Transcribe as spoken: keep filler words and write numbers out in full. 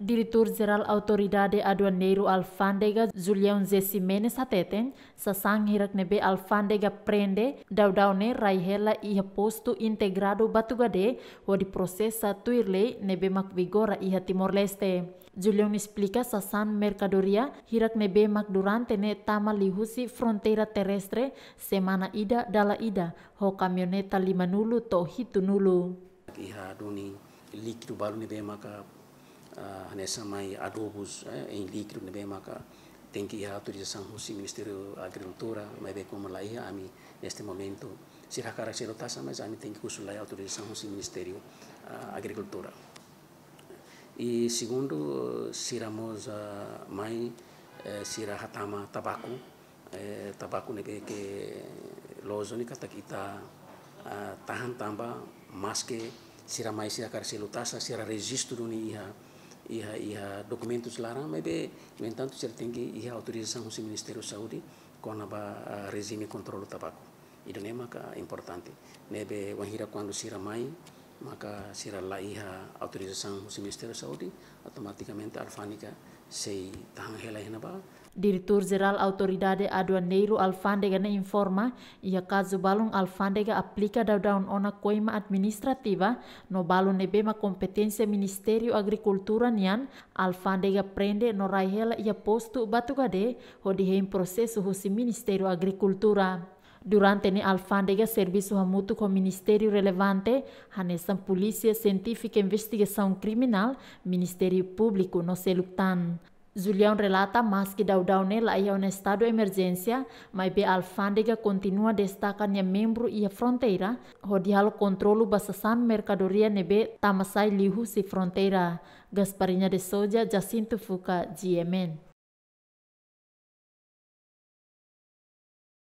Diretór Jerál Autoridade Aduaneiru Alfándega, Julião José Ximenes hateten, sasán hirak ne'ebé alfándega prende daudaun ne'e rai hela iha postu integradu Batugade, hodi prosesa tuir lei ne'ebé mak vigora iha Timor-Leste. Julião esplika sasán merkadoria hirak ne'ebé mak durante ne'e tama liuhusi fronteira terrestre semana ida dala ida, ho kamioneta limanulu to'o hitunulu. Iha duni líkidu balu ne'ebé maka, ah, hanesan mai adobus, eh, em líquido ne'ebé maka tenke iha autorizasaun husi Ministériu Agrikultura, maibé komu la iha, ami neste momentu sira hakarak selu taxa, mas ami tenke husu lai autorizasaun husi Ministériu, ah, Agrikultura. I segundu, sira mós, ah, mai, eh, sira hatama tabaku, eh, tabaku ne'ebé ke loos duni katak ita, ah, tahan tanba maske sira mai sira hakarak selu taxa, sira rejistu duni iha, iha, iha dokumentus laran, maibé, no entantu, sira tenke iha autorizasaun husi Ministériu Saúde kona-ba, ah, rejime kontrolu tabaku. Ida-ne'e maka importante. Ne'ebé wainhira kuandu sira mai, maka sira la iha autorizasaun husi Ministériu Saúde, automatikamente alfándega sei tahan hela iha ne'ebá. Diretór Jerál Autoridade Aduaneiru Alfándega ne'e informa, iha kazu balun alfándega aplika daudaun ona koima administrativa, no balun ne'ebé mak kompeténsia Ministériu Agrikultura nian, alfándega prende no rai hela iha postu Batugade, hodi hein prosesu husi Ministériu Agrikultura. Durante ne'e alfándega servisu hamutuk ho ministériu relevante, hanesan Polísia Sientífika Investigasaun Kriminál, Ministériu Públiku no seluk tan. Julião relata, maske daudaun ne'e la iha ona estadu emerjénsia, maibé alfándega kontinua destaka nia membru iha fronteira, hodi halo kontrolu ba sasán merkadoria ne'ebé tama sai liuhusi fronteira. Gasparinha de Souza, Jacinto Fuca, G M N.